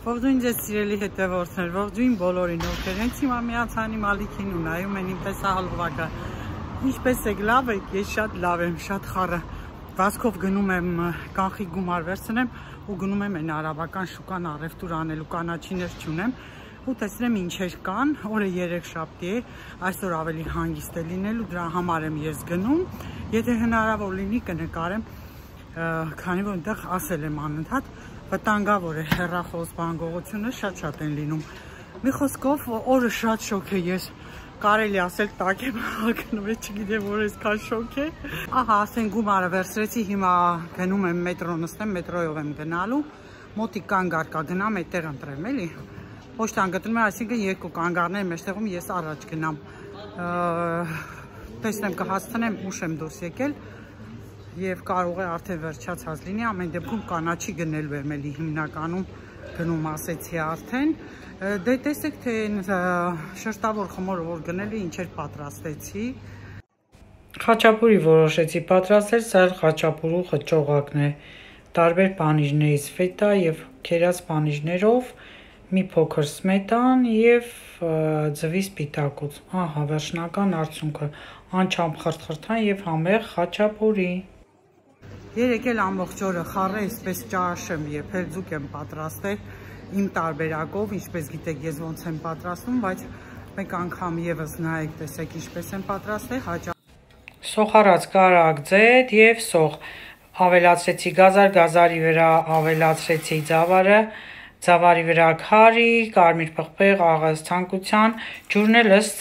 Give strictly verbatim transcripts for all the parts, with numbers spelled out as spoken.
Ողջույն ձեզ սիրելի հետևորդներ, ողջույն բոլորին, ովքեր հենց հիմա միացան իմ ալիքին ու նայում են իմ տեսահոլովակը։ Ինչպես եք, լավ եք, ես շատ լավ եմ, շատ խառը վազքով գնում եմ կանխիկ գումար վերցնեմ ու գնում եմ այն արաբական շուկան առևտուր անելու, կանաչիներ չունեմ ու տեսնեմ ինչեր կան, օրը երեքշաբթի է, այսօր ավելի հանգիստ է լինելու, դրա համար եմ ես գնում, եթե հնարավոր լինի կնկարեմ, քանի որ այնտեղ ասել եմ անընդհատ վտանգավոր է հեռախոս բանգողությունը, շատ-շատ են լինում։ Մի խոսքով օրը շատ շոկ է, ես կարելի ասել տակ եմ հագնում, չգիտեմ որ այսքան շոկ է։ Ահա, ասեն գումարը վերցրեցի, հիմա գնում եմ մետրո նստեմ, մետրոյով եմ գնալու, մոտիկ կանգար կա, գնամ այդտեղ ընտրեմ, էլի։ Պոչտան գտնում եմ, այսինքն երկու կանգարներ մեջտեղում ես առաջ գնամ։ Տեսնեմ կհասցնեմ ուշ եմ դուրս եկել։ Եվ կարող է արդեն վերջացած լինի, ամեն դեպքում կանաչի գնելու եմ էլի հիմնականում գնում ասեցի արդեն։ Դե տեսեք թե շերտավոր խմորը որ գնելու ինչեր պատրաստեցի։ Խաչապուրի որոշեցի պատրաստել, սա խաչապուրու խճողակն է։ Տարբեր պանիրներից ֆետա եւ քերած պանիրներով, մի փոքր սմետան եւ ձվի սպիտակուց։ Ահա վերջնական արդյունքը, անչափ խրթխրթան եւ համեղ խաչապուրի։ Երեկ էլ ամբողջ օրը խառը այսպես ճաշեմ եւ հելձուկ եմ պատրաստել իմ տարբերակով, ինչպես գիտեք ես ոնց եմ պատրաստում, բայց մեկ անգամ եւս նայեք, տեսեք ինչպես եմ պատրաստել, հաճա սոխարած կարագ ձեթ եւ սոխ, ավելացրեցի գազար, գազարի վրա ավելացրեցի ծավարը, ծավարի վրա քարի, կարմիր պղպեղ, աղաս ցանկության, ջուրն էլ ըստ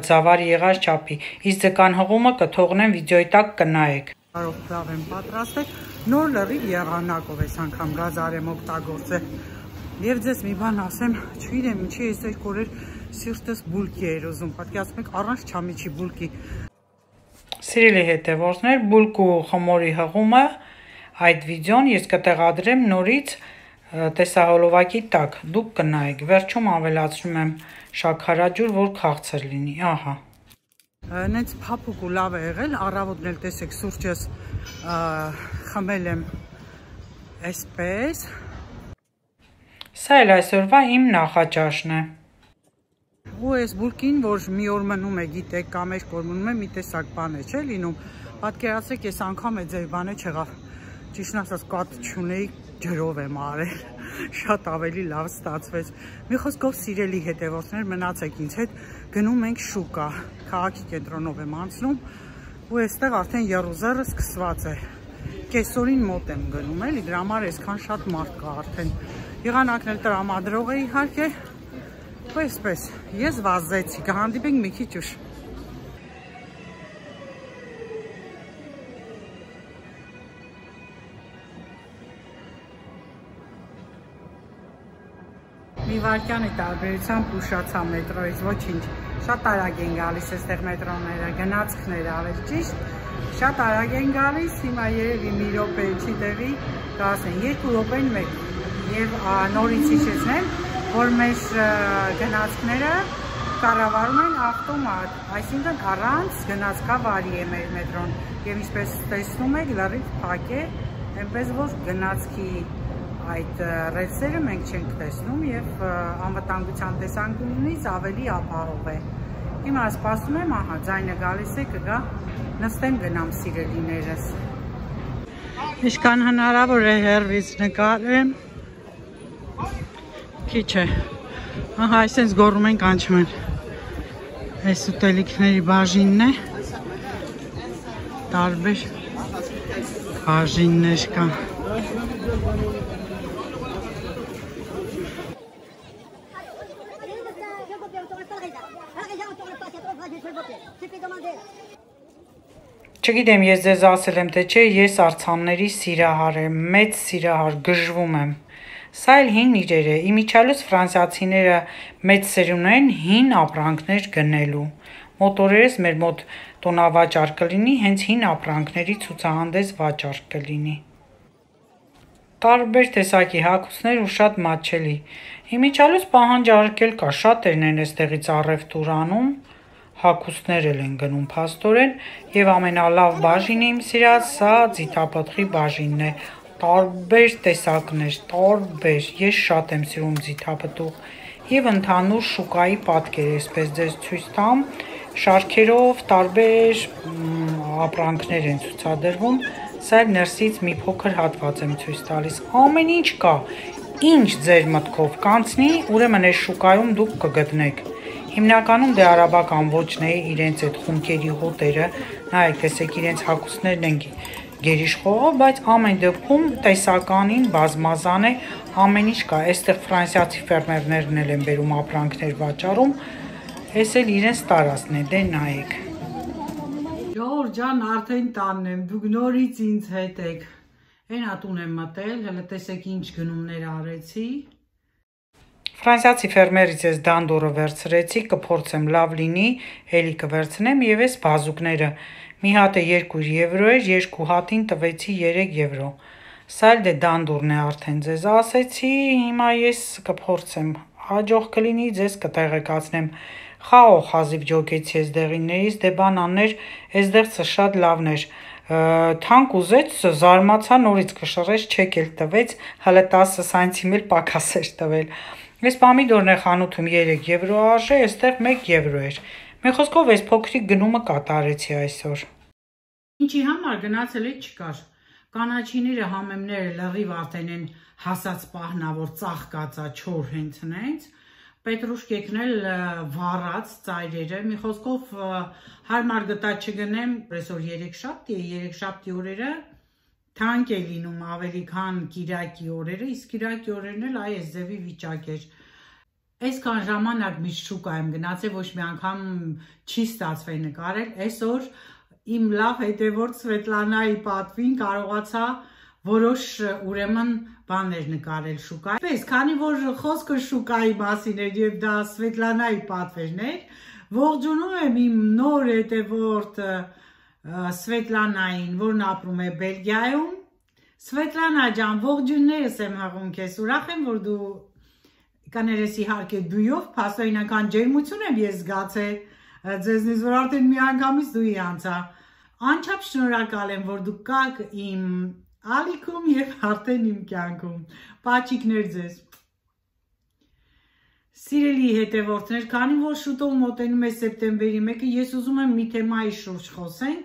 ծավարի եղած չափի, իսկ ձկան հղումը կթողնեմ վիդեոյի տակ կնայեք։ Կարող լավ եմ պատրաստել, նոր լրիվ եղանակով այս անգամ գազար եմ օգտագործել եւ ձեզ մի բան ասեմ, չգիտեմ ինչի այս երկու օրեր սիրտս բուլկի էր ուզում, պատկերացնեք առանց չամիչի բուլկի։ Սիրելի հետևորդներ, բուլկու խմորի հղումը այդ վիդեոն ես կտեղադրեմ նորից տեսահոլովակի տակ, դուք կնայեք, վերջում ավելացնում եմ շաքարաջուր, որ քաղցր լինի, ահա։ Նենց փափուկ ու լավ է եղել, առավոտն էլ տեսեք սուրճս խմել եմ այսպես։ Սա էլ այսօրվա իմ նախաճաշն է։ Ու այս բուլկին, որ մի օր մնում է, գիտեք, կամ երբ որ մնում է, մի տեսակ բան է, չէ՞ լինում։ Պատկերացրեք, ես անգամ է ձեր բանը չեղավ։ Ճիշտն ասած կատ չունեի, ջրով եմ արել, շատ ավելի լավ ստացվեց։ Մի խոսքով սիրելի հետևորդներ, մնացեք ինձ հետ, գնում ենք շուկա, քաղաքի կենտրոնով եմ անցնում ու այստեղ արդեն եռուզեռը սկսված է։ Կեսօրին մոտ եմ գնում, էլի, դրա համար այսքան շատ մարդ կա արդեն։ Եղանակն էլ տրամադրող է իհարկե, ու այսպես, ես վազեցի, կհանդիպենք մի քիչ ուշ։ Մի վարկյանի տարբերությամբ ուշացա մետրոից, ոչինչ, շատ արագ են գալիս այստեղ մետրոները, գնացքները ավել ճիշտ, շատ արագ են գալիս, հիմա երևի մի րոպե չի տեղի, կասեն երկու րոպեն մեկ եւ նորից հիշեցնեմ, որ մեր գնացքները կառավարում են ավտոմատ, այսինքն առանց գնացքավարի է մեր մետրոն եւ ինչպես տեսնում եք լրիվ փակ է, այնպես որ գնացքի այդ ռելսերը մենք չենք տեսնում եւ անվտանգության տեսանկյունից ավելի ապահով է։ Հիմա սպասում եմ, ահա, ձայնը գալիս է, կգա, նստեմ գնամ սիրելիներս։ Ինչքան հնարավոր է հեռվից նկարեմ։ Քիչ է։ Ահա, այսպես գոռում են, կանչում են։ Այս ուտելիքների բաժինն է։ Տարբեր բաժիններ կան։ Չգիտեմ ես ձեզ ասել եմ թե չէ, ես արձանների սիրահար եմ, մեծ սիրահար, գժվում եմ։ Սա էլ հին իրեր է, իմիջիալուց ֆրանսիացիները մեծ սերուն են հին ապրանքներ գնելու։ Մոտորերս մեր մոտ տոնավաճառ կլինի, հենց հին ապրանքների ցուցահանդես վաճառք կլինի։ Տարբեր տեսակի հագուստներ ու շատ մատչելի։ Իմիջիալուց պահանջարկել կա, շատերն են այստեղից առևտուր անում, հագուստներ էլ են գնում փաստորեն եւ ամենալավ բաժինը իմ սիրած սա ձիթապտղի բաժինն է, տարբեր տեսակներ, տարբեր, ես շատ եմ սիրում ձիթապտուղ եւ ընդհանուր շուկայի պատկեր, այսպես ձեզ ցույց տամ, շարքերով տարբեր ապրանքներ են ցուցադրվում, սա ներսից մի փոքր հատված եմ ցույց տալիս, ամեն ինչ կա, ինչ ձեր մտքով կանցնի, ուրեմն այս շուկայում դուք կգտնեք։ Հիմնականում դե արաբական ոճն է, իրենց այդ խունկերի հոտերը, նայեք, տեսեք, իրենց հագուստներն են գերիշխողով, բայց ամեն դեպքում տեսականին բազմազան է, ամեն ինչ կա, այստեղ ֆրանսիացի ֆերմերներն էլ են բերում ապրանքներ վաճառում, այս էլ իրենց տարածքն է, դե նայեք։ Ժողովուրդ ջան, արդեն տանն եմ, դուք նորից ինձ հետ եք, այն ատուն եմ մտել, հələ տեսեք ինչ գնումներ արեցի։ Ֆրանսիացի ֆերմերից ես դանդորը վերցրեցի, կփորձեմ լավ լինի, էլի կվերցնեմ եւ այս բազուկները մի հատը երկու եվրո էր, երկու հատին տվեցի երեք եվրո։ Սա էլ դե դանդուրն է արդեն ձեզ ասեցի, հիմա ես կփորձեմ, հաջող կլինի, ձեզ կտեղեկացնեմ։ Խաղող հազիվ ջոկեցի ես դեղիններից, դե բանաններ, այս դեղցը շատ լավն էր։ Թանկ ուզեց, զարմացա, նորից կշռեց, չեք էլ տվեց, հələ տասը սանտիմ էլ պակաս էր տվել։ Այս պամիդորն է խանութում երեք եվրո արժե, այստեղ մեկ եվրո էր։ Մի խոսքով այս փոքրիկ գնումը կատարեցի այսօր։ Ինչի համար գնացել է չկար։ Կանաչիները, համեմները լրիվ արդեն են հասած պահնա, որ ծաղկածա չոր հենց հենց։ Պետրուշկեքն էլ վառած ծայրերը, մի խոսքով հարմար գտա չգնեմ, այսօր երեքշաբթի է, երեքշաբթի օրերը թանկ է լինում ավելի քան կիրակի օրերը, իսկ կիրակի օրերն էլ այ այս ձևի վիճակ էր։ Այսքան ժամանակ միշտ շուկա եմ գնացել, ոչ մի անգամ չի ստացվել նկարել, այսօր իմ լավ հետևորդ Սվետլանայի պատվին կարողացա որոշ ուրեմն բաներ նկարել շուկա։ Պես, քանի որ խոսքը շուկայի մասին էր եւ դա Սվետլանայի պատվերն էր, ողջունում եմ իմ նոր հետևորդ Սվետլանային, որն ապրում է Բելգիայում։ Սվետլանա ջան, ողջույններս եմ հղում քեզ, ուրախ եմ, որ դու կաներես իհարկե դույով, փաստորենական ջերմություն եմ ես զգացել, ձեզնից որ արդեն մի անգամից դուի անցա։ Անչափ շնորհակալ եմ, որ դու կաք իմ ալիքում եւ արդեն իմ կյանքում։ Պաչիկներ ձեզ։ Սիրելի հետևորդներ, քանի որ շուտով մոտենում է սեպտեմբերի մեկը, ես ուզում եմ մի թեմայի շուրջ խոսենք,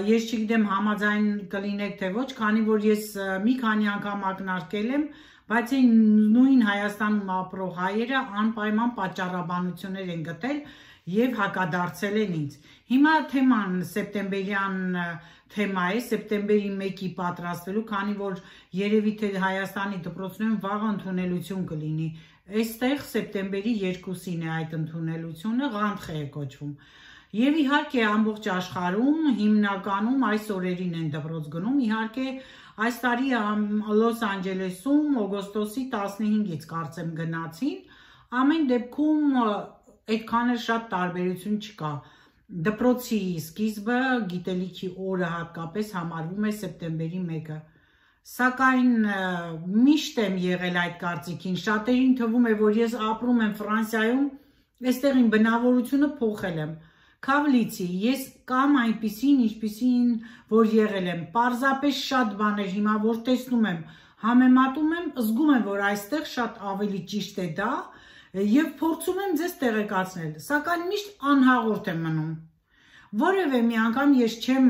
ես չգիտեմ համաձայն կլինեք թե ոչ, քանի որ ես մի քանի անգամ ակնարկել եմ, բայց այն նույն Հայաստանում ապրող հայերը անպայման պատճառաբանություններ են գտել եւ հակադարձել են ինձ։ Հիմա թեման սեպտեմբերյան թեմա է, սեպտեմբերի մեկի պատրաստվելու, քանի որ երևի թե Հայաստանի դպրոցներում վաղ ընդունելություն կլինի։ Այստեղ սեպտեմբերի երկուսին է այդ ընդունելությունը, Ղանթխե է կոչվում։ Եվ իհարկե ամբողջ աշխարհում հիմնականում այս օրերին են դպրոց գնում, իհարկե այս տարի Լոս Անջելեսում օգոստոսի տասնհինգից կարծեմ գնացին, ամեն դեպքում այդքան էլ շատ տարբերություն չկա։ Դպրոցի սկիզբը, գիտելիքի օրը հատկապես համարվում է սեպտեմբերի մեկը։ Սակայն միշտ եմ եղել այդ կարծիքին, շատերին թվում է, որ ես ապրում եմ Ֆրանսիայում, այստեղ իմ բնավորությունը փոխել եմ։ Քավլիցի, ես կամ այնպիսին, ինչպիսին, որ եղել եմ, պարզապես շատ բաներ հիմա, որ տեսնում եմ, համեմատում եմ, զգում եմ, որ այստեղ շատ ավելի ճիշտ է դա եւ փորձում եմ ձեզ տեղեկացնել, սակայն միշտ անհաղորդ եմ մնում։ Որևէ մի անգամ ես չեմ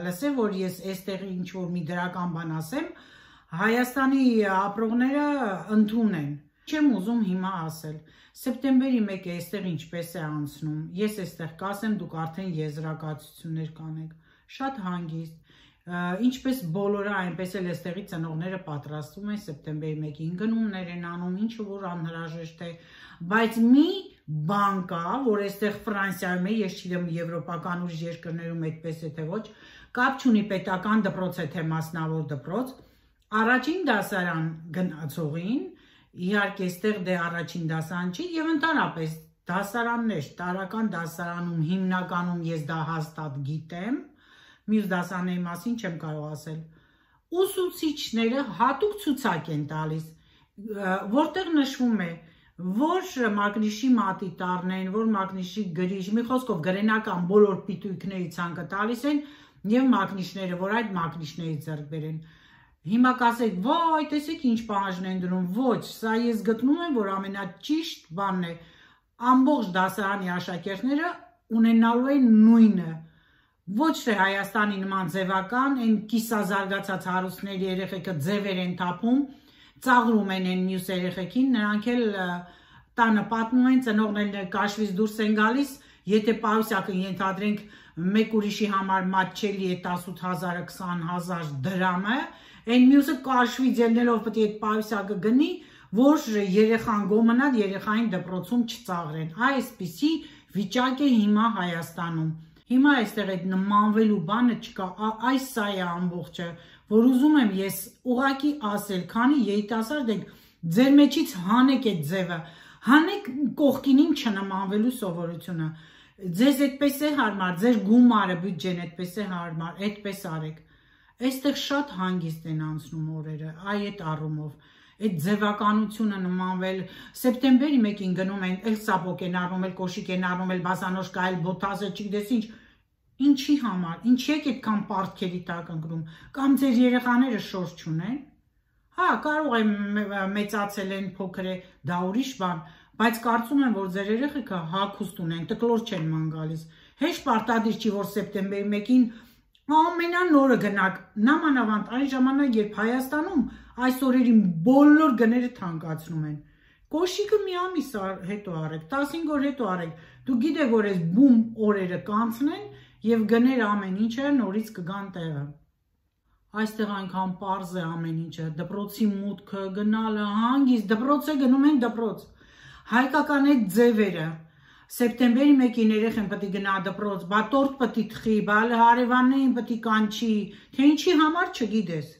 լսել, որ ես այստեղ ինչ-որ մի դրական բան ասեմ, Հայաստանի ապրողները ընդունեն։ Չեմ ուզում հիմա ասել։ Սեպտեմբերի մեկը այստեղ ինչպես է անցնում։ Ես այստեղ կասեմ, դուք արդեն եզրակացություններ կանեք։ Շատ հանգիստ։ Ինչպես բոլորը, այնպես էլ այստեղի ծնողները պատրաստվում են սեպտեմբերի մեկին, գնումներ են անում, ինչը որ անհրաժեշտ է, բայց մի բան կա, որ այստեղ Ֆրանսիայում է, ես չգիտեմ եվրոպական ուրիշ երկրներում այդպես է թե ոչ, կապ չունի պետական դպրոց է թե մասնավոր դպրոց, առաջին դասարան գնացողին, իհարկե այստեղ դե առաջին դասարան չի եւ ընդհանրապես դասարաններ, տարական դասարանում հիմնականում ես դա հաստատ գիտեմ, մյուս դասարանների մասին չեմ կարող ասել։ Ուսուցիչները հատուկ ցուցակ են տալիս, որտեղ նշվում է, որ մագնիշի մատի տառնեն, որ մագնիշի գրիչ, մի խոսքով գրենական բոլոր պիտույքների ցանկը տալիս են եւ մագնիշները, որ այդ մագնիշներից ձեռք բերեն։ Հիմա կասեք, վայ, տեսեք ինչ պահանջն են դնում, ոչ, սա ես գտնում եմ, որ ամենաճիշտ բանն է, ամբողջ դասարանի աշակերտները ունենալու են նույնը, ոչ թե Հայաստանի նման ձևական, այն կիսազարգացած հարուստների երեխեքը ձևեր են թափում, ծաղրում են այն մյուս երեխեքին, նրանք էլ տանը պատմում են, ծնողներն կաշվից դուրս են գալիս, եթե պարուսյակը ենթադրենք մեկ ուրիշի համար մատչելի է տասութ հազարը քսան հազար դրամը, այն մյուսը կաշվից ելնելով պետք է այդ պարուսյակը գնի, որ երեխան գոմնա երեխային դպրոցում չծաղրեն, այսպիսի վիճակ է հիմա Հայաստանում, հիմա այստեղ այդ նմանվելու բանը չկա, այս սա է ամբողջը, որ ուզում եմ ես ուղղակի ասել, քանի երիտասարդ եք, ձեր մեջից հանեք այդ ձևը, հանեք կողքին իմ չնմանվելու սովորությունը, ձեզ այդպես է հարմար, ձեր գումարը բյուջեն այդպես է հարմար, այդպես արեք, այստեղ շատ հանգիստ են անցնում օրերը, այ այդ առումով, այդ ձևականությունը նմանվել, սեպտեմբերի մեկին գնում են, էլ սապոկ են առնում, էլ կոշիկ են առնում, էլ բասանոշկա, էլ բոթազը, չգիտես ինչ, ինչի համար, ինչի եք այդքան պարտքերի տակ ընկնում, կամ ձեր երեխաները շոր չունեն, հա, կարող է մեծացել են փոքր է, դա ուրիշ բան, բայց կարծում եմ, որ ձեր երեխեքը հագուստ ունեն, տկլոր չեն ման գալիս, հեշտ պարտադիր չի, որ սեպտեմբերի մեկին ամենանորը գնաք, նամանավանդ այն ժամանակ, երբ Հայաստանում այս օրերին բոլոր գները թանկացնում են, կոշիկը մի ամիս հետո արեք, տասնհինգ օր հետո արեք, դու գիտեք, որ այս բում օրերը կանցնեն և գներ ամեն ինչը նորից կգան տեղը, այստեղ այնքան պարզ է ամեն ինչը, դպրոցի մուտքը, գնալը, հանգիստ, դպրոց է գնում են դպրոց, հայկական այդ ձևերը, սեպտեմբերի մեկին երեխան պետք է գնա դպրոց, բա տորտ պետք է թխի, բա հարևաններին պետք է կանչի, թե ինչի համար չգիտես,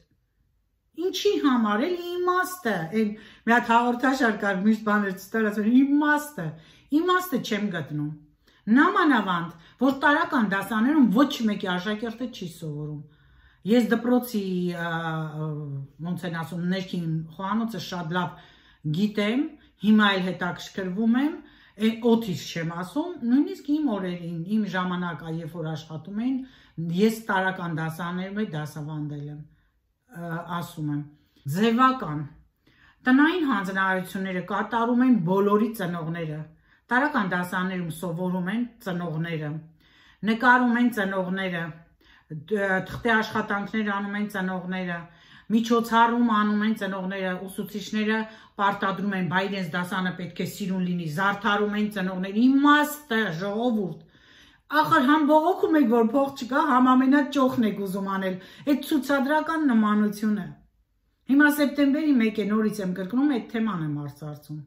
ինչի համար, էլ իմաստը, մի հատ հաղորդաշար կար, միշտ բաներ չստարացել, իմաստը, իմաստը չեմ գտնում, նամանավանդ, որ տարական դասաներում ոչ մեկի աշակերտը չի սովորում, ես դպրոցի, ոնց են ասում, ներքին խոհանոցը շատ լավ գիտեմ, հիմա էլ հետաքրքրվում եմ, օդից չեմ ասում, նույնիսկ իմ օրերին, իմ ժամանակա, երբ որ աշխատում էին, ես տարական դասաներում եմ դասավանդել եմ, ասում եմ, ձևական, տնային հանձնարարությունները կատարում են բոլորի ծնողները, տարական դասաներում սովորում են ծնողները, նկարում են ծնողները, թղթե աշխատանքներ անում են ծնողները, միջոցառում անում են ծնողները, ուսուցիչները պարտադրում են, բա իրենց դասանը պետք է սիրուն լինի, զարդարում են ծնողները, իմաստը, ժողովուրդ, ախր համ բողոքում եք, որ փող չկա, համ ամենաճոխն եք ուզում անել, այդ ցուցադրական նմանությունը, հիմա սեպտեմբերի մեկ է նորից եմ կրկնում, այդ թեման եմ արծարծում,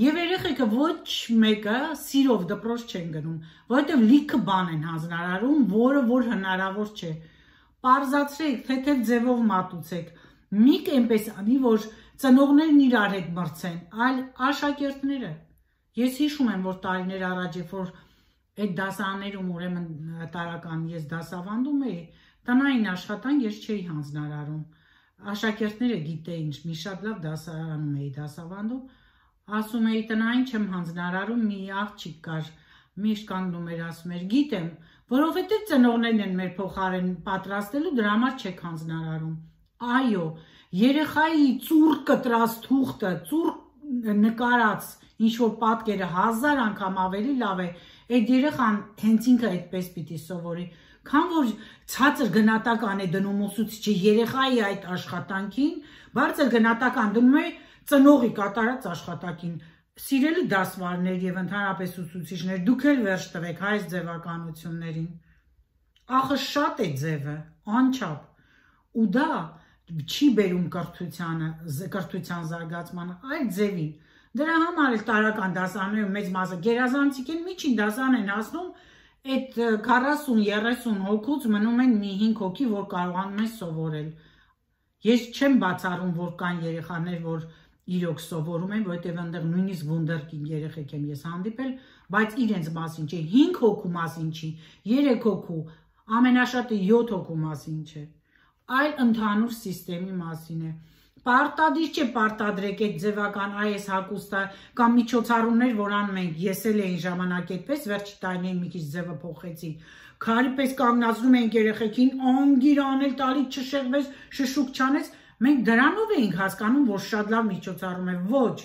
և երեխեքը ոչ մեկը սիրով դպրոց չեն գնում, որովհետև լիքը բան են հանձնարարում, որը որ հնարավոր չէ, պարզացրեք, թեթև ձևով մատուցեք, մի կենպես անի, որ ծնողներն իրար հետ մրցեն, այլ աշակերտները, ես հիշում եմ, որ տարիներ առաջ, երբ որ այդ դասաներում ուրեմն տարական ես դասավանդում էի, տնային աշխատանք ես չէի հանձնարարում, աշակերտները գիտեին, մի շատ լավ դասարանում էի դասավանդում, ասում էի տնային չեմ հանձնարարում, մի աղջիկ կար, միշտ կանգնում էր ասում էր, գիտեմ, որովհետև ծնողներն են մեր փոխարեն պատրաստելու, դրա համար չեք հանձնարարում, այո, երեխայի ծուռ կտրած թուղթը, ծուռ նկարած, ինչ-որ պատկերը հազար անգամ ավելի լավ է, այդ երեխան հենց ինքը այդպես պիտի սովորի, քան որ ցածր գնահատական է դնում ուսուցիչը երեխայի այդ աշխատանքին, բարձր գնահատական դնում է ծնողի կատարած աշխատանքին, սիրելի դասվարներ և ընդհանրապես ուսուցիչներ, դուք էլ վերջ տվեք այս ձևականություններին, ախր շատ է ձևը, անչափ, ու դա չի բերում կրթության զարգացմանը, այլ ձևին, դրա համար էլ տարական դասաներում մեծ մասը գերազանցիկ են, միջին դասան են հասնում, այդ քառասուն երեսուն հոգուց մնում են մի հինգ հոգի, որ կարողանում են սովորել, ես չեմ բացառում, որ կան երեխաներ, որ իրոք սովորում են, որովհետև այնտեղ նույնիսկ վունդերկինդ երեխեք եմ ես հանդիպել, բայց իրենց մասին չէ, հինգ հոգու մասին չի, երեք հոգու, ամենաշատը յոթ հոգու մասին չէ, այլ ընդհանուր սիստեմի մասին է, պարտադիր չէ պարտադրեք այդ ձևական այս հագուստը կամ միջոցառումներ, որ անում ենք, ես էլ էի ժամանակ այդպես, վերջի տարիներին մի քիչ ձևը փոխեցի, քարի պես կանգնացնում ենք երեխեքին, անգիր անել տալի չշեղվես, շշուկ չանես, Մենք դրանով էինք հասկանում, որ շատ լավ միջոցառում է, ոչ,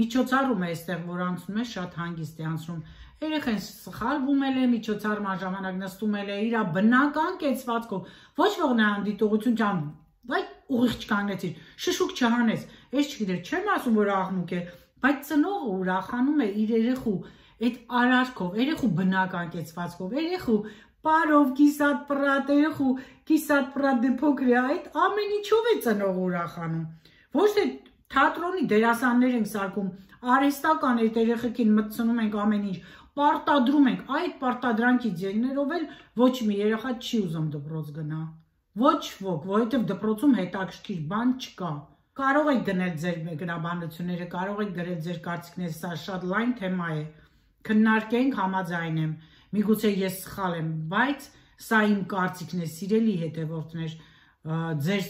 միջոցառում է այստեղ, որ անցնում է, շատ հանգիստ է անցնում։ Երեխան սխալվում է, միջոցառման ժամանակ նստում է իր բնական կեցվածքով, ոչ ոք նրան դիտողություն չան, բայց ուղիղ չկանգնեցիր, շշուկ չհանես, ես չգիտեր, չեմ ասում, որ աղմուկ է, բայց ծնողը ուրախանում է իր երեխու այդ արարքով, երեխու բնական կեցվածքով, երեխու պարով, կիսատ պրատ, երեխու կիսատ պրատ դե փոքր է, այդ ամեն ինչով է ծնողը ուրախանում, ոչ թե թատրոնի դերասաններ ենք սարքում, արհեստական այդ երեխեքին մտցնում ենք ամեն ինչ, պարտադրում ենք, այդ պարտադրանքից ելներով էլ ոչ մի երեխա չի ուզում դպրոց գնա, ոչ ոք, որովհետև դպրոցում հետաքրքիր բան չկա։ Կարող եք գնել ձեր գրաբանությունները, կարող եք գրել ձեր կարծիքները, սա շատ լայն թեմա է, քննարկենք, համաձայն եմ, միգուցե ես սխալ եմ, բայց սա իմ կարծիքն է, սիրելի հետևորդներ, ձեր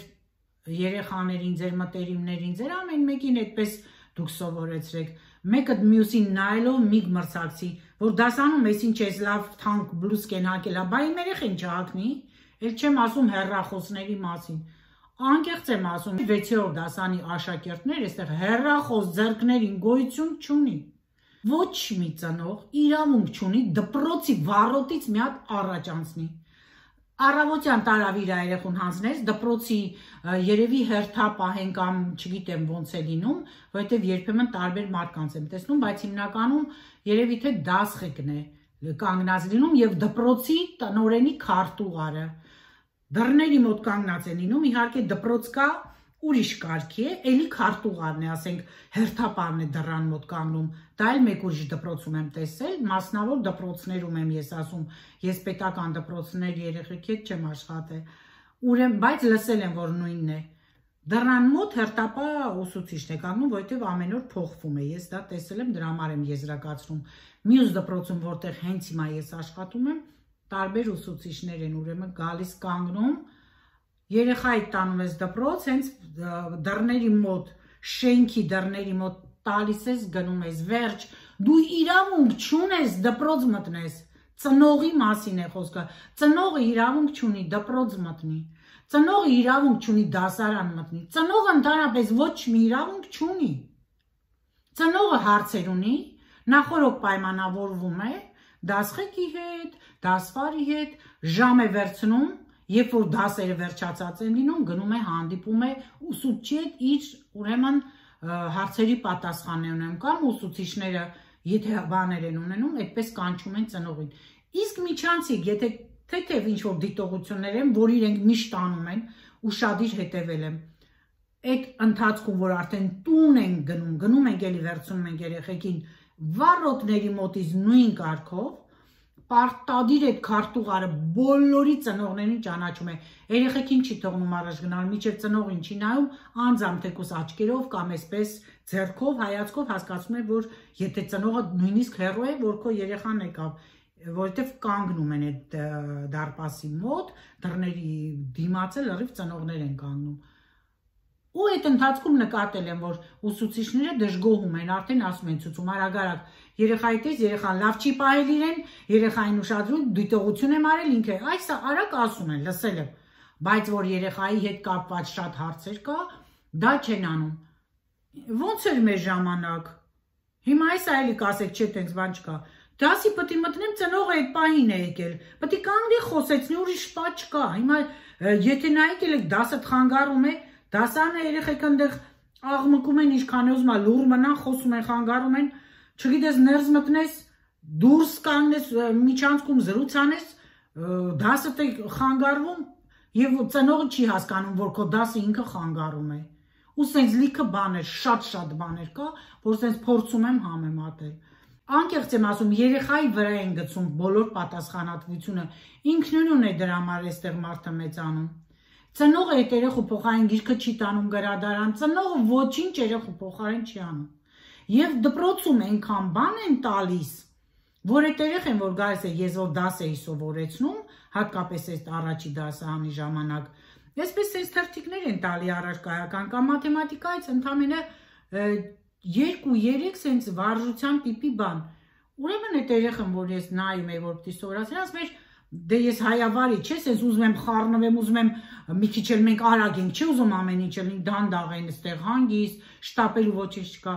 երեխաներին, ձեր մտերիմներին, ձեր ամեն մեկին այդպես դուք սովորեցրեք, մեկը մյուսին նայելով միգ մրցակցի, որ դասանում ես ինչ ես լավ թանկ բլուսկեն հակել, բա իմ երեխեն չհակնի, էլ չեմ ասում հեռախոսների մասին, անկեղծ եմ ասում, վեցերորդ դասանի աշակերտներ այստեղ հեռախոս ձեռքներին գոյություն չունի, ոչ մի ծնող իրավունք չունի դպրոցի վառոտից մի հատ առաջ անցնի, առավոտյան տարավ իր երեխուն հանձնես, դպրոցի երևի հերթապահեն կամ չգիտեմ ոնց է լինում, որովհետև երբեմն տարբեր մարդկանց եմ տեսնում, բայց հիմնականում երևի թե դասղեկն է կանգնած լինում եւ դպրոցի տնօրենի քարտուղարը, դռների մոտ կանգնած է լինում, իհարկե դպրոց կա, ուրիշ կարգի է, էլի քարտուղարն է, ասենք հերթապահն է դռան մոտ կանգնում, դա էլ մեկ ուրիշ դպրոցում եմ տեսել, մասնավոր դպրոցներում եմ ես ասում, ես պետական դպրոցներ երեխեքի հետ չեմ աշխատել, ուրեմն, բայց լսել եմ, որ նույնն է, դռան մոտ հերթապահ ուսուցիչն է կանգնում, որովհետև ամեն օր փոխվում է, ես դա տեսել եմ, դրա համար եմ եզրակացնում, մյուս դպրոցում, որտեղ հենց հիմա ես աշխատում եմ, տարբեր ուսուցիչներ են, ուրեմն գալիս կանգնում, երեխայի տանում ես դպրոց, հենց դռների մոտ, շենքի դռների մոտ տալիս ես, գնում ես, վերջ, դու իրավունք չունես դպրոց մտնես, ծնողի մասին է խոսքը, ծնողը իրավունք չունի դպրոց մտնի, ծնողը իրավունք չունի դասարան մտնի, ծնողը ընդհանրապես ոչ մի իրավունք չունի, ծնողը հարցեր ունի, նախորդ պայմանավորվում է, դասղեկի հետ, դասվարի հետ, ժամ է վերցնում, երբ որ դասերը վերջացած են լինում, գնում է հանդիպում է ուսուցչի հետ իր ուրեմն հարցերի պատասխան է ունենում կամ ուսուցիչները եթե բաներ են ունենում, այդպես կանչում են ծնողին։ Իսկ միջանցիկ, եթե թեթև ինչ-որ դիտողություններ են, որ իրենք միշտ անում են, ուշադիր հետևել եմ, այդ ընթացքում, որ արդեն տուն են գնում, գնում ենք էլի վերցնում ենք երեխեքին, վառոտների մոտից նույն կարգով, պարտադիր այդ քարտուղարը բոլորի ծնողներին ճանաչում է, երեխեքին չի թողնում առաջ գնալ, մինչև ծնողին չի նայում, անձամբ թեկուզ աչքերով կամ այսպես ձեռքով, հայացքով հասկացում է, որ եթե ծնողը նույնիսկ հեռու է, որ քո երեխան եկավ, որովհետև կանգնում են այդ դարպասի մոտ, դռների դիմացը լրիվ ծնողներ են կանգնում։ Ու այդ ընթացքում նկատել եմ, որ ուսուցիչները դժգոհում են, արդեն ասում են ցուցում արագ-արագ, երեխայի տես, երեխան լավ չի պահել իրեն, երեխային ուշադրում, դիտողություն եմ արել ինքը, այս արագ ասում են, լսել եմ, բայց որ երեխայի հետ կապված շատ հարցեր կա, դա չեն անում։ Ոնց էր մեր ժամանակ։ Հիմա այս այլի կասեք, չէ, տենց բան չկա։ Դասի պետք է մտնեմ, ծնողը այդ պահին է եկել, պետք է կանգնի խոսեցնի, ուրիշ բան չկա։ Հիմա եթե նայեք եք դասը խանգարում է, դասանը երեխեք այնտեղ աղմկում են, ինչքան է ուզում, լուր մնան, խոսում են, խանգարում են, չգիտես ներս մտնես, դուրս կանգնես, միջանցքում զրույց անես, դասը թե խանգարվում եւ ծնողը չի հասկանում, որ քո դասը ինքը խանգարում է։ Ու սենց լիքը բաներ, շատ-շատ բաներ կա, որ սենց փորձում եմ համեմատել։ Անկեղծ եմ ասում, երեխայի վրա են գցում բոլոր պատասխանատվությունը, ինքնուրույն է դրա համար այստեղ մարդը մեծանում։ Ծնողը այդ երեխու փոխարեն գիրքը չի տանում գրադարան, ծնողը ոչինչ երեխու փոխարեն չի անում։ Եվ դպրոցում այնքան բան են տալիս, որ այդ երեխեն, որ գալիս է, ես որ դաս էի սովորեցնում, հատկապես այս առաջի դասարանի ժամանակ, այսպես այս թերթիկներ են տալի առարկայական կամ մաթեմատիկայից ընդամենը երկու-երեք սենց վարժության տիպի բան։ Ուրեմն այդ երեխան, որ ես նայում եի, որ պիտի սովորացնի, ասում էր, դե ես հայավարի չէ, ես ուզում եմ խառնվեմ, ուզում եմ մի քիչ էլ մենք արագ ենք, չի ուզում ամեն ինչ լինի դանդաղ են, այստեղ հանգիստ, շտապելու ոչինչ չկա։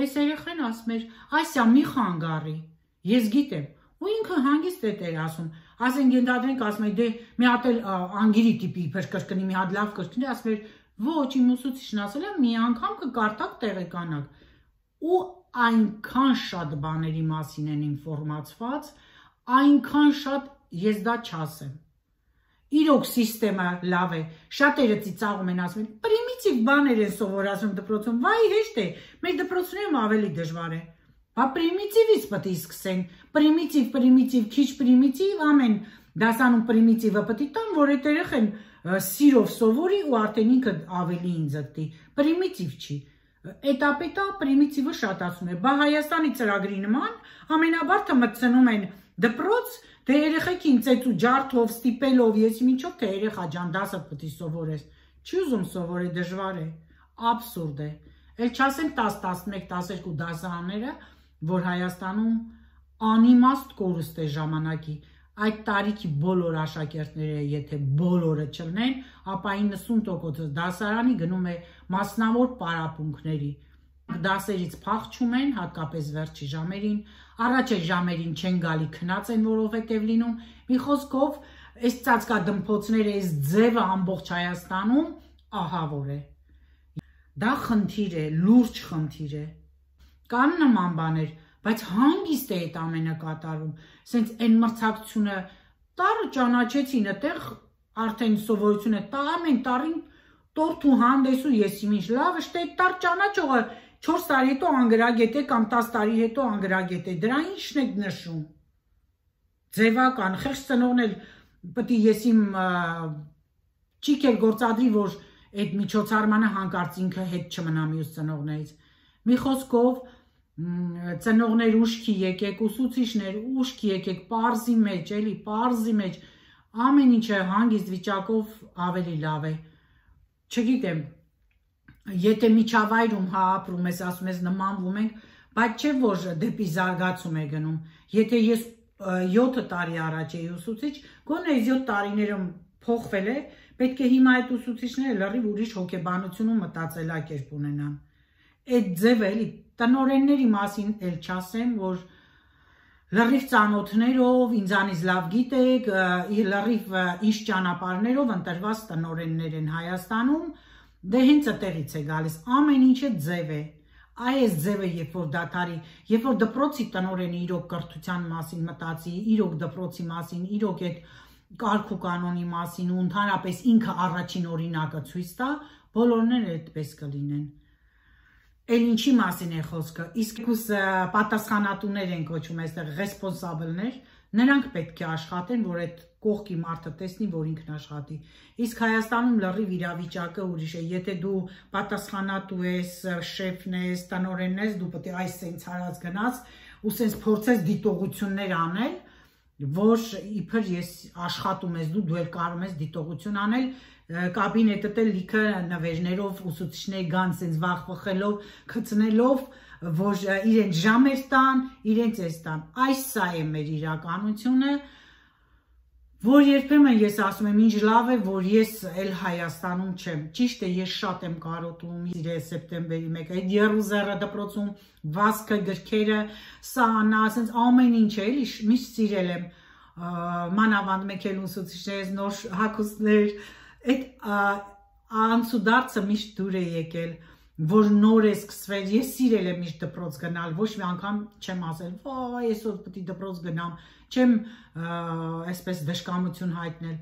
Այս երեխան ասում էր, այսա մի խանգարի, ես գիտեմ, ու ինքը հանգիստ է տեր ասում, ասենք ենթադրենք ասում է, դե մի հատ էլ անգիրի տիպի իբր կրկնի, մի հատ լավ կրկնի, ասում էր, ոչ, իմ ուսուցիչն ասել է, մի անգամ կկարտակ տեղեկանաք, ու այնքան շատ բաների մասին են ինֆորմացված, այնքան շատ ես դա չասեմ։ Իրոք սիստեմը լավ է, շատերը ծիծաղում են ասում են, պրիմիտիվ բաներ են սովորացնում դպրոցում, վայ հեշտ է, մեր դպրոցներում ավելի դժվար է։ Բա պրիմիտիվից պետք է սկսեն, պրիմիտիվ, պրիմիտիվ, քիչ պրիմիտիվ, ամեն դասանում պրիմիտիվը պետք է տան, որ այդ երեխան սիրով սովորի ու արդեն ինքը ավելի ինձգտի, պրիմիտիվ չի։ Էտապետա պրիմիտիվը շատացում է, բա Հայաստանի ծրագրի նման ամենաբարդը մտցնում են դպրոց, թե երեխեքին ծեծու ջարդով, ստիպելով, ես ինչով թե երեխա ջան դասը պետք է սովորես, չի ուզում սովորել, դժվար է, աբսուրդ է, էլ չասեմ տաս, տասնմեկ, տասներկու դասարանները, որ Հայաստանում անիմաստ կորուստ է ժամանակի, այդ տարիքի բոլոր աշակերտները, եթե բոլորը չլնեն, ապա իննսուն տոկոս դասարանի գնում է մասնավոր պարապմունքների, դասերից փախչում են, հատկապես վերջի ժամերին, առաջ է ժամերին չեն գալի քնած են, որովհետև լինում, մի խոսքով, այս ծածկադմփոցները, այս ձևը ամբողջ Հայաստանում ահավոր է։ Դա խնդիր է, լուրջ խնդիր է։ Կան նման բաներ, բայց հանգիստ է այդ ամենը կատարում, սենց այն մրցակցությունը տարը ճանաչեցին, այդտեղ արդեն սովորությունը տա ամեն տարին տորթ ու հանդես ու ես ինչ լավը, շտե տար ճանաչողը չորս տարի հետո անգրագետ է կամ տաս տարի հետո անգրագետ է, դրա ինչն եք նշում։ Ձևական, խեղճ ծնողն էլ պետք է ես իմ ճիք էլ գործադրի, որ այդ միջոցառմանը հանկարծ ինքը հետ չմնա մյուս ծնողներից։ Մի խոսքով ծնողներ ուշքի եկեք, ուսուցիչներ ուշքի եկեք, պարզի մեջ, էլի պարզի մեջ, ամեն ինչը հանգիստ վիճակով ավելի լավ է։ Չգիտեմ, եթե միջավայրում հա ապրում ես, ասում ես նմանվում ենք, բայց չէ որ դեպի զարգացում է գնում։ Եթե ես յոթ տարի առաջ էի ուսուցիչ, գոնե այս յոթ տարիներում փոխվել է, պետք է հիմա այդ ուսուցիչները լրիվ ուրիշ հոգեբանություն ու մտածելակերպ ունենան։ Այդ ձևը էլի տնօրենների մասին էլ չասեմ, որ լրիվ ծանոթներով, ինձանից լավ գիտեք, լրիվ ինչ ճանապարհներով ընտրված տնօրեններ են Հայաստանում, դե հենց այդտեղից է գալիս, ամեն ինչը ձև է։ Այս ձևը երբ որ դատարի, երբ որ դպրոցի տնօրենը իրոք կրթության մասին մտածի, իրոք դպրոցի մասին, իրոք այդ կարգ ու կանոնի մասին ու ընդհանրապես ինքը առաջին օրինակը ցույց տա, բոլորն էլ այդպես կլինեն։ Էլ ինչի մասին է խոսքը, իսկ պատասխանատուներ են կոչվում այստեղ ռեսպոնսաբլներ, նրանք պետք է աշխատեն, որ այդ կողքի մարդը տեսնի, որ ինքն աշխատի։ Իսկ Հայաստանում լրիվ իրավիճակը ուրիշ է, եթե դու պատասխանատու ես, շեֆն ես, տնօրենն ես, դու պետք է այս սենց հարած գնաց ու սենց փորձես դիտողություններ անել, որ իբր ես աշխատում ես դու, դու էլ կարող ես դիտողություն անել, կաբինետը էլ լիքը նվերներով ուսուցիչներ գան սենց վախ վխելով, խցնելով, որ իրենց ժամեր տան, իրենց էս տան։ Այս սա է մեր իրականությունը, որ երբեմն ես ասում եմ ինչ լավ է, որ ես էլ Հայաստանում չեմ։ Ճիշտ է, ես շատ եմ կարոտում իրե սեպտեմբերի մեկը, այդ Երուսաղեմի դպրոցում վազքը գրքերը, սանա, ասենց ամեն ինչ է, էլի միշտ սիրել եմ մանավանդ մեկ էլ ուսուցիչներից նոր հագուստներ, այդ անցուդարձը միշտ դուր է եկել, որ նոր է սկսվել, ես սիրել եմ միշտ դպրոց գնալ, ոչ մի անգամ չեմ ասել, վայ, այսօր պետք է դպրոց գնամ, չեմ այսպես դժկամություն հայտնել,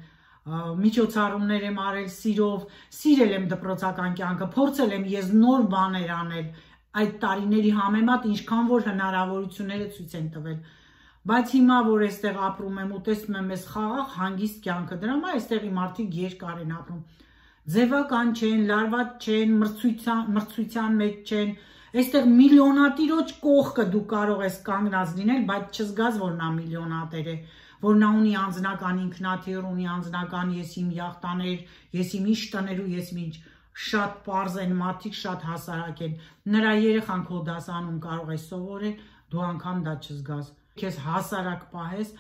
միջոցառումներ եմ արել սիրով, սիրել եմ դպրոցական կյանքը, փորձել եմ ես նոր բաներ անել, այդ տարիների համեմատ ինչքան որ հնարավորությունները ցույց են տվել, բայց հիմա որ այստեղ ապրում եմ ու տեսնում եմ այս խաղաղ հանգիստ կյանքը, դրա համար այստեղի մարդիկ երկար են ապրում, ձևական չեն, լարված չեն, մրցության մեջ չեն, այստեղ միլիոնատիրոջ կողքը դու կարող ես կանգնած լինել, բայց չզգաս, որ նա միլիոնատեր է, որ նա ունի անձնական ինքնաթիռ, ունի անձնական ես իմ յախտաներ, ես իմ ինչ տներ ու ես իմ ինչ, շատ պարզ են մարդիկ, շատ հասարակ են, նրա երեխան քո դասանում կարող է սովորել, դու անգամ դա չզգաս, քեզ հասարակ պահես,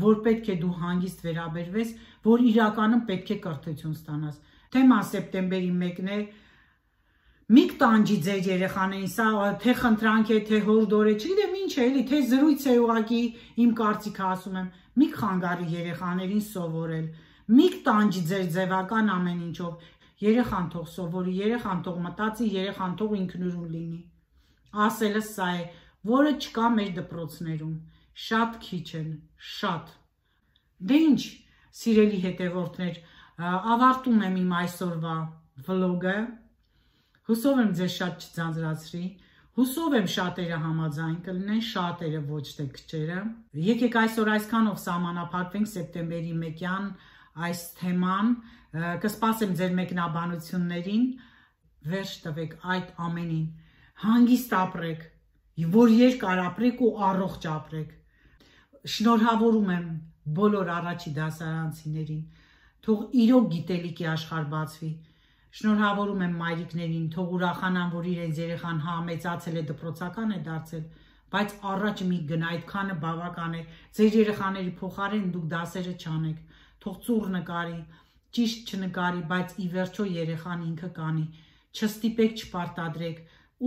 որ պետք է դու հանգիստ վերաբերվես, որ իրականում պետք է կրթություն ստանաս։ Թեման սեպտեմբերի մեկն է, մի կտանջի ձեր երեխաներին, սա թե խնդրանք է, թե հորդոր է, չգիտեմ ինչ է, էլի, թե զրույց է ուղղակի, իմ կարծիքը ասում եմ, մի խանգարի երեխաներին սովորել, մի կտանջի ձեր ձևական ամեն ինչով, երեխան թող սովորի, երեխան թող մտածի, երեխան թող ինքնուրույն լինի։ Ասելը սա է, որը չկա մեր դպրոցներում, շատ քիչ են, շատ։ Դե ինչ, սիրելի հետևորդներ, ավարտում եմ իմ այսօրվա վլոգը, հուսով եմ ձեզ շատ չձանձրացրի, հուսով եմ շատերը համաձայն կլինեն, շատերը ոչ թե քչերը։ Եկեք այսօր այսքանով սահմանափակվենք սեպտեմբերի մեկյան այս թեման, կսպասեմ ձեր մեկնաբանություններին, վերջ տվեք այդ ամենին, հանգիստ ապրեք, որ երկար ապրեք ու առողջ ապրեք։ Շնորհավորում եմ բոլոր առաջի դասարանցիներին, թող իրոք գիտելիքի աշխարհ բացվի։ Շնորհավորում եմ մայրիկներին, թող ուրախանան, որ իրենց երեխան հա մեծացել է, դպրոցական է դարձել, բայց առաջ մի գնա, այդքանը բավական է։ Ձեր երեխաների փոխարեն դուք դասերը չանեք, թող ծուռ նկարի, ճիշտ չնկարի, բայց ի վերջո երեխան ինքը կանի։ Չստիպեք, չպարտադրեք,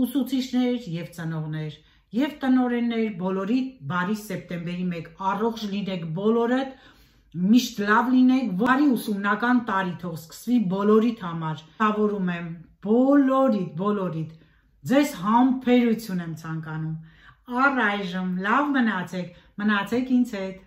ուսուցիչներ եւ ծնողներ, եւ տնօրեններ, բոլորի բարի սեպտեմբերի մեկ, առողջ լինեք բոլորդ, միշտ լավ լինեք, բարի ուսումնական տարի թող սկսվի բոլորիդ համար։ Շնորհավորում եմ բոլորիդ, բոլորիդ, ձեզ համբերություն եմ ցանկանում։ Առայժմ լավ մնացեք, մնացեք ինձ հետ։